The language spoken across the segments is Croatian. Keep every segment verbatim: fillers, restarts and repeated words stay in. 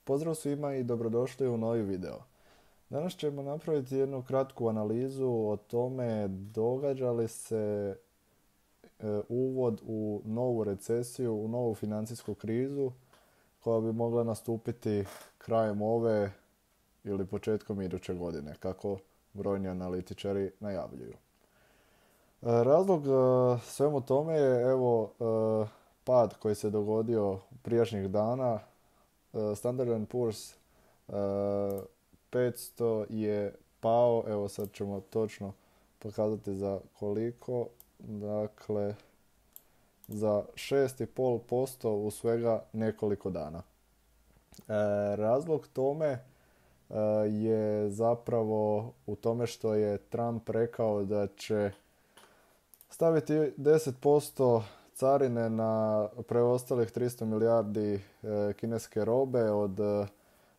Pozdrav svima i dobrodošli u novi video. Danas ćemo napraviti jednu kratku analizu o tome događa li se e, uvod u novu recesiju, u novu financijsku krizu koja bi mogla nastupiti krajem ove ili početkom iduće godine, kako brojni analitičari najavljuju. E, Razlog e, svemu tome je evo e, pad koji se dogodio prijašnjih dana. e, Standard and Poor's e, petsto je pao, evo sad ćemo točno pokazati za koliko, dakle za šest zarez pet posto u svega nekoliko dana. E, razlog tome e, je zapravo u tome što je Trump rekao da će staviti deset posto carine na preostalih tristo milijardi e, kineske robe od e,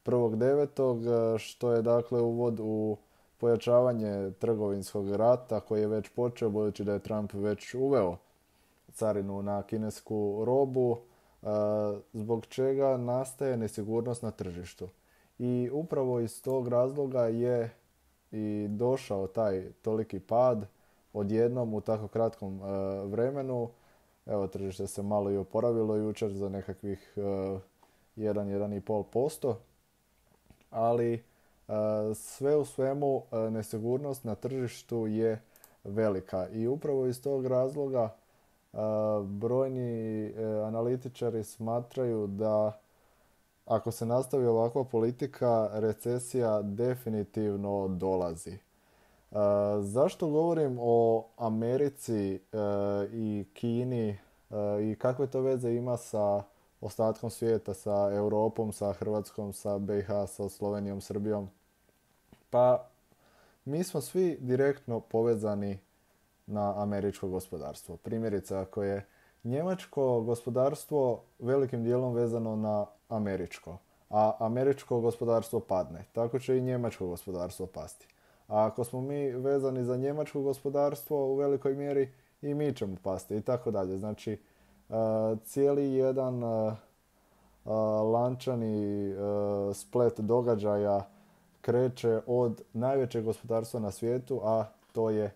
prvog devetog što je dakle uvod u pojačavanje trgovinskog rata koji je već počeo budući da je Trump već uveo carinu na kinesku robu, e, zbog čega nastaje nesigurnost na tržištu. I upravo iz tog razloga je i došao taj toliki pad odjednom u tako kratkom e, vremenu. Evo, tržište se malo i oporavilo jučer za nekakvih e, jedan do jedan zarez pet posto, ali e, sve u svemu e, nesigurnost na tržištu je velika i upravo iz tog razloga e, brojni e, analitičari smatraju da ako se nastavi ovakva politika, recesija definitivno dolazi. Uh, zašto govorim o Americi uh, i Kini uh, i kakve to veze ima sa ostatkom svijeta, sa Europom, sa Hrvatskom, sa be i ha, sa Slovenijom, Srbijom? Pa mi smo svi direktno povezani na američko gospodarstvo. Primjerice, ako je njemačko gospodarstvo velikim dijelom vezano na američko, a američko gospodarstvo padne, tako će i njemačko gospodarstvo pasti. A ako smo mi vezani za njemačko gospodarstvo u velikoj mjeri i mi ćemo pasti i tako dalje. Znači uh, cijeli jedan uh, uh, lančani uh, splet događaja kreće od najvećeg gospodarstva na svijetu, a to je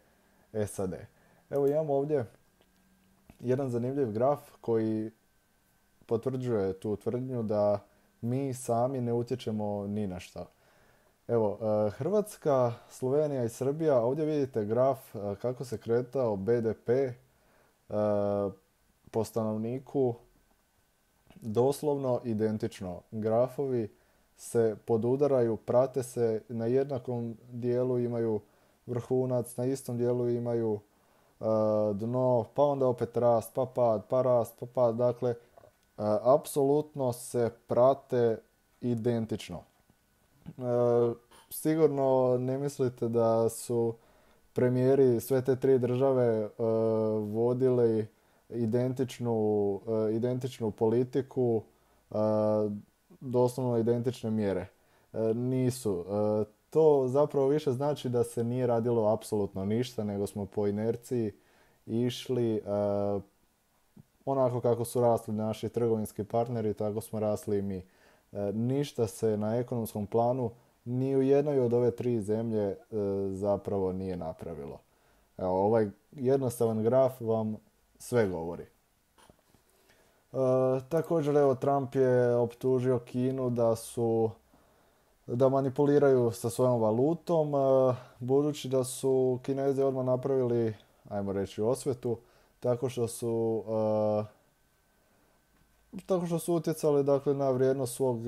es a de. Evo imamo ovdje jedan zanimljiv graf koji potvrđuje tu tvrdnju da mi sami ne utječemo ni na šta. Evo, Hrvatska, Slovenija i Srbija, ovdje vidite graf kako se kretao be de pe po stanovniku, doslovno identično. Grafovi se podudaraju, prate se, na jednakom dijelu imaju vrhunac, na istom dijelu imaju dno, pa onda opet rast, pa pad, pa rast, pa pad. Dakle, apsolutno se prate identično. E, sigurno ne mislite da su premijeri sve te tri države e, vodili identičnu, e, identičnu politiku, e, doslovno identične mjere. E, nisu. E, to zapravo više znači da se nije radilo apsolutno ništa, nego smo po inerciji išli e, onako kako su rasli naši trgovinski partneri, tako smo rasli i mi. E, ništa se na ekonomskom planu ni u jednoj od ove tri zemlje e, zapravo nije napravilo. Evo, ovaj jednostavan graf vam sve govori. E, također, evo, Trump je optužio Kinu da su da manipuliraju sa svojom valutom, e, budući da su Kinezi odmah napravili, ajmo reći, osvetu, tako što su e, tako što su utjecali dakle, na vrijednost svog,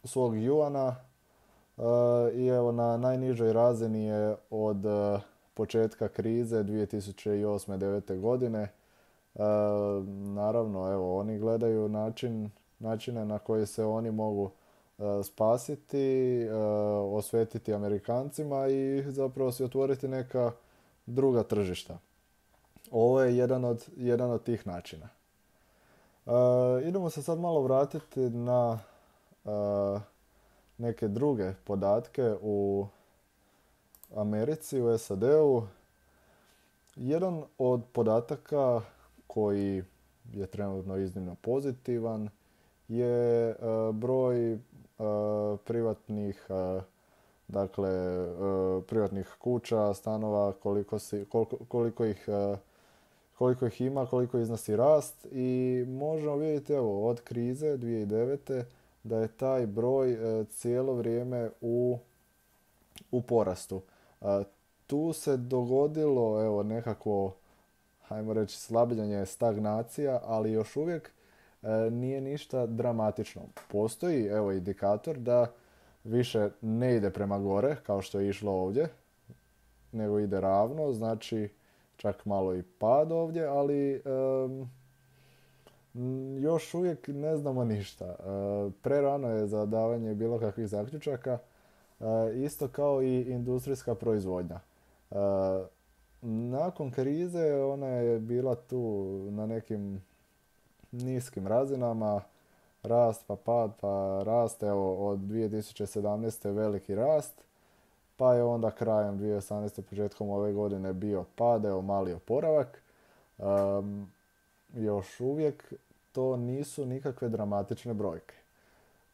svog juana e, i evo na najnižoj razini je od e, početka krize dvije tisuće osme. devete. godine. E, naravno, evo, oni gledaju način, načine na koji se oni mogu e, spasiti, e, osvetiti Amerikancima i zapravo si otvoriti neka druga tržišta. Ovo je jedan od, jedan od tih načina. Uh, idemo se sad malo vratiti na uh, neke druge podatke u Americi, u es a de-u. Jedan od podataka koji je trenutno iznimno pozitivan je e, broj e, privatnih e, dakle e, privatnih kuća, stanova, koliko, si, koliko, koliko ih e, koliko ih ima, koliko iznosi rast i možemo vidjeti evo od krize dvije tisuće devete da je taj broj e, cijelo vrijeme u, u porastu. E, tu se dogodilo evo nekakvo, hajmo reći, slabljenje, stagnacija, ali još uvijek e, nije ništa dramatično. Postoji evo indikator da više ne ide prema gore kao što je išlo ovdje, nego ide ravno, znači čak malo i pad ovdje, ali em, još uvijek ne znamo ništa. E, prerano je za davanje bilo kakvih zaključaka, e, isto kao i industrijska proizvodnja. E, nakon krize ona je bila tu na nekim niskim razinama, rast pa pad pa rast, evo od dvije tisuće sedamnaeste. veliki rast, pa je onda krajem dvije tisuće osamnaeste. početkom ove godine bio pad, evo mali oporavak. Um, još uvijek to nisu nikakve dramatične brojke.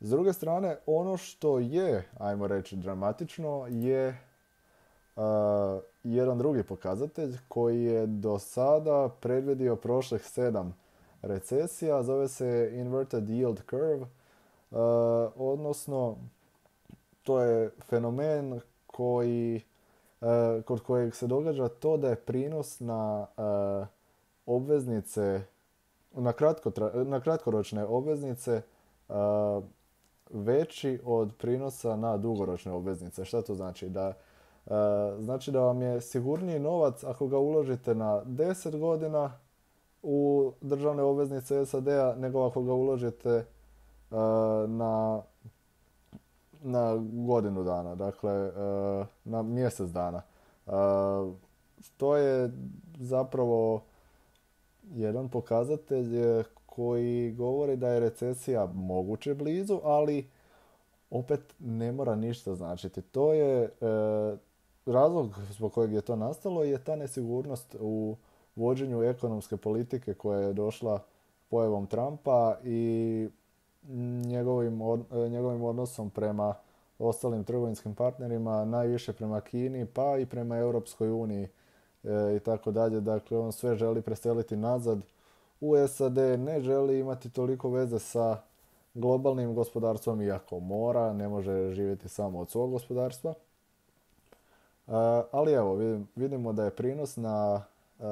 S druge strane, ono što je, ajmo reći, dramatično je uh, jedan drugi pokazatelj koji je do sada predvidio prošlih sedam recesija, zove se Inverted Yield Curve, uh, odnosno to je fenomen koji, uh, kod kojeg se događa to da je prinos na uh, obveznice, na, kratko, na kratkoročne obveznice uh, veći od prinosa na dugoročne obveznice. Šta to znači? Da, uh, znači da vam je sigurniji novac ako ga uložite na deset godina u državne obveznice S A D-a nego ako ga uložite uh, na, na godinu dana, dakle uh, na mjesec dana. Uh, to je zapravo jedan pokazatelj koji govori da je recesija moguće blizu, ali opet ne mora ništa značiti. To je e, razlog zbog kojeg je to nastalo je ta nesigurnost u vođenju ekonomske politike koja je došla pojavom Trumpa i njegovim, od, njegovim odnosom prema ostalim trgovinskim partnerima, najviše prema Kini pa i prema Europskoj uniji e, i tako dalje. Dakle, on sve želi preseliti nazad u S A D, ne želi imati toliko veze sa globalnim gospodarstvom, iako mora, ne može živjeti samo od svog gospodarstva. Uh, ali evo, vidimo da je prinos na uh,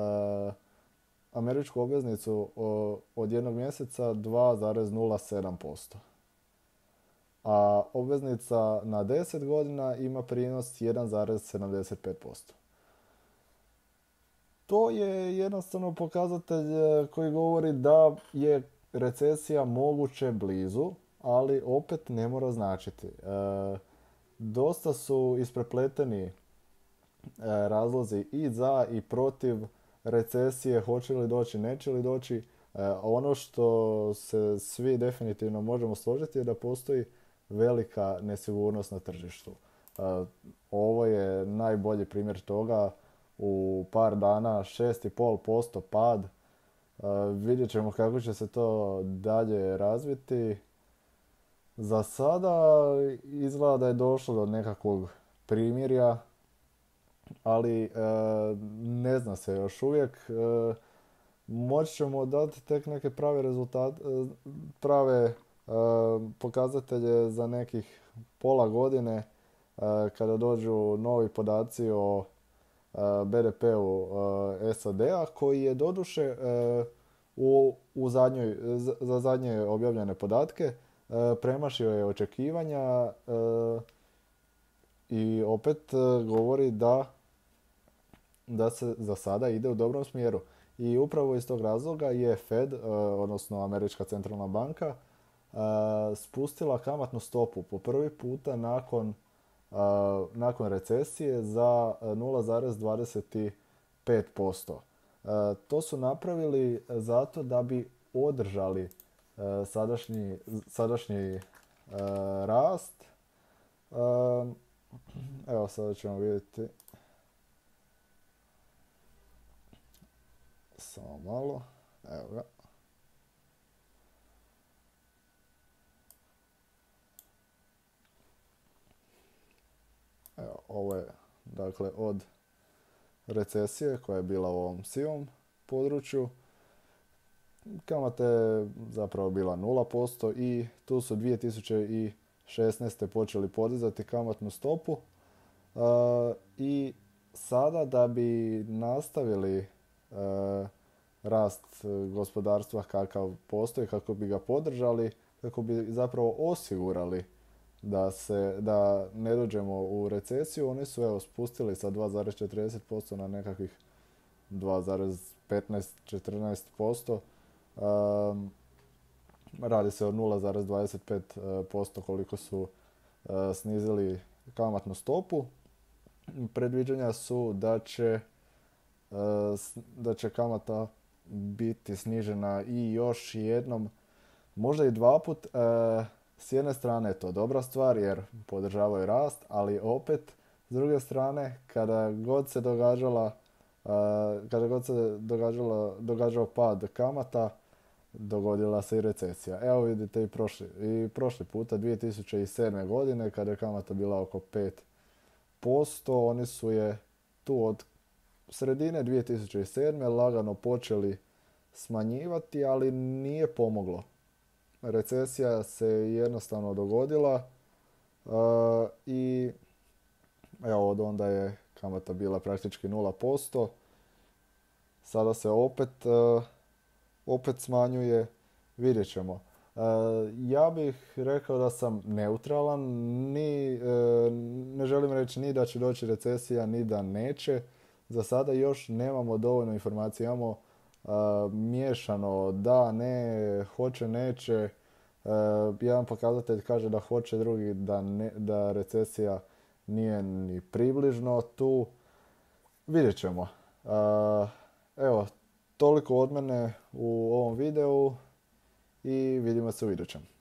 američku obveznicu uh, od jednog mjeseca dva zarez nula sedam posto. A obveznica na deset godina ima prinos jedan zarez sedamdeset pet posto. To je jednostavno pokazatelj koji govori da je recesija moguće blizu, ali opet ne mora značiti. E, dosta su isprepleteni e, razlozi i za i protiv recesije, hoće li doći, neće li doći. E, ono što se svi definitivno možemo složiti je da postoji velika nesigurnost na tržištu. E, ovo je najbolji primjer toga. U par dana šest zarez pet posto pad. Uh, vidjet ćemo kako će se to dalje razviti. Za sada izgleda da je došlo do nekakvog primirja, ali uh, ne zna se još uvijek. Uh, moći ćemo dati tek neke prave rezultate, uh, prave uh, pokazatelje za nekih pola godine uh, kada dođu novi podaci o B D P-u S A D-a koji je doduše u, u zadnjoj, za zadnje objavljene podatke premašio je očekivanja i opet govori da, da se za sada ide u dobrom smjeru. I upravo iz tog razloga je Fed, odnosno Američka centralna banka, spustila kamatnu stopu po prvi puta nakon Uh, nakon recesije za nula zarez dvadeset pet posto. Uh, to su napravili zato da bi održali uh, sadašnji, sadašnji uh, rast. Uh, evo sada ćemo vidjeti. Samo malo. Evo ga. ovo je dakle od recesije koja je bila u ovom sivom području. Kamata je zapravo bila nula posto i tu su dvije tisuće šesnaeste. počeli podizati kamatnu stopu. Uh, I sada da bi nastavili uh, rast gospodarstva kakav postoji, kako bi ga podržali, kako bi zapravo osigurali da, se, da ne dođemo u recesiju, oni su evo spustili sa dva zarez četrdeset posto na nekakvih dva zarez petnaest do četrnaest posto. Um, radi se o nula zarez dvadeset pet posto koliko su uh, snizili kamatnu stopu. Predviđanja su da će, uh, da će kamata biti snižena i još jednom, možda i dva put. Uh, s jedne strane je to dobra stvar jer podržavaju rast, ali opet s druge strane kada god se događala uh, kada god se događala, događao pad kamata, dogodila se i recesija. Evo vidite i prošli, i prošli puta dvije tisuće sedme. godine kada je kamata bila oko pet posto, oni su je tu od sredine dvije tisuće sedme. lagano počeli smanjivati, ali nije pomoglo. Recesija se jednostavno dogodila uh, i evo od onda je kamata bila praktički nula posto. Sada se opet uh, opet smanjuje, vidjet ćemo. Uh, ja bih rekao da sam neutralan, ni, uh, ne želim reći ni da će doći recesija, ni da neće. Za sada još nemamo dovoljno informacija, imamo uh, miješano da, ne, hoće, neće. Uh, jedan pokazatelj kaže da hoće, drugi da, ne, da recesija nije ni približno tu. Vidjet ćemo. Uh, evo, toliko od mene u ovom videu i vidimo se u idućem.